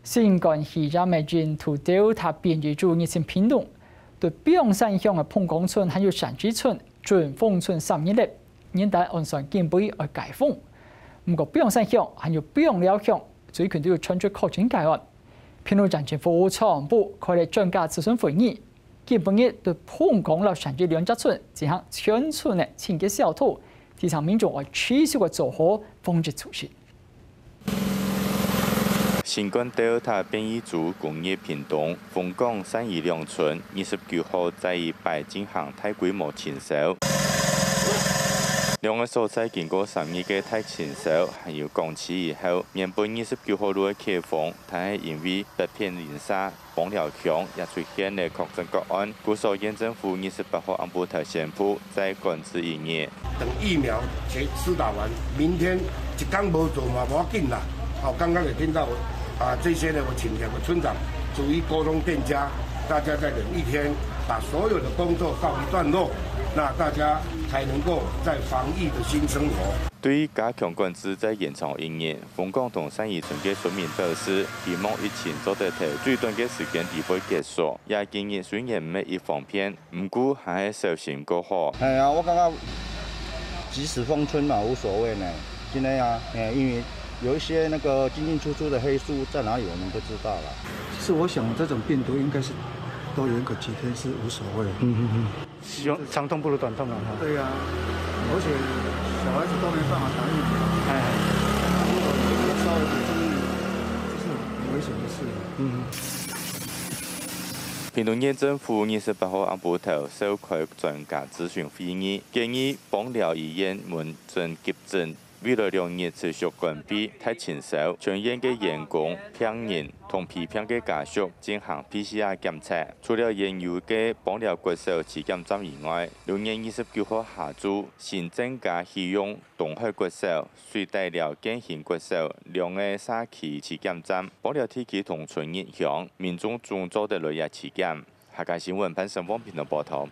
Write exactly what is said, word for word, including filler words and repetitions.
新冠肺炎个印度Delta變異株入侵屏東，對屏山鄉个膨江村還有山之村、準豐村三日了，原旦按算今晡日愛解封。毋過屏山鄉還有枋寮鄉最近都有傳出確診個案。屏東縣政府傳染部開了專家諮詢會議，今晡日對膨江摎山之兩隻村進行全村个清潔消毒，提醒民眾愛持續个做好防疫措施。 新冠Delta變異株攻入屏東，豐江、山醫兩村二十九號再一擺進行大規模清消。兩個所在經過三日个大清消，還有降氣以後，原本二十九號就會解封，但係因為北片零舍 枋寮鄉也出現了確診個案，故所縣政府二十八號暗晡頭宣布再管制一日。等疫苗全施打完，明天一工無做嘛，無要緊啦。好，剛剛也聽到啊，這些呢，我請兩個村長逐一溝通店家，大家再忍一天，把所有的工作告一段落，那大家才能夠在防疫的新生活。 對於加強管制再延長一日，豐江同山醫村个村民表示，希望疫情做得在最短个時間裡背結束。也今日雖然毋係一方便，毋過還係小心過好。哎呀，我感覺即使封村嘛，無所謂呢。真的啊，哎，因為有一些那個進進出出的黑數在哪裡，我們不知道啦。其實我想，這種病毒應該是多延個幾天是無所謂。嗯嗯嗯。 希望長痛不如短痛啊，哈。對呀，而且小孩子都沒辦法打疫苗，哎。那如果有一個稍微不注意，這是很危險的事。嗯。屏東縣政府二十八號暗晡頭召開專家諮詢會議，建議枋寮醫院門診急診 未來兩日持續關閉大清消，全院个員工、病人同皮病个家屬進行PCR檢測。除了原有个枋寮國小篩檢站以外，六月二十九號下晝新增加啟用東海國小、水底寮建興國小兩個社區篩檢站。枋寮地區同村入鄉，民眾總做得來這篩檢。客家新聞潘成峰屏東報導。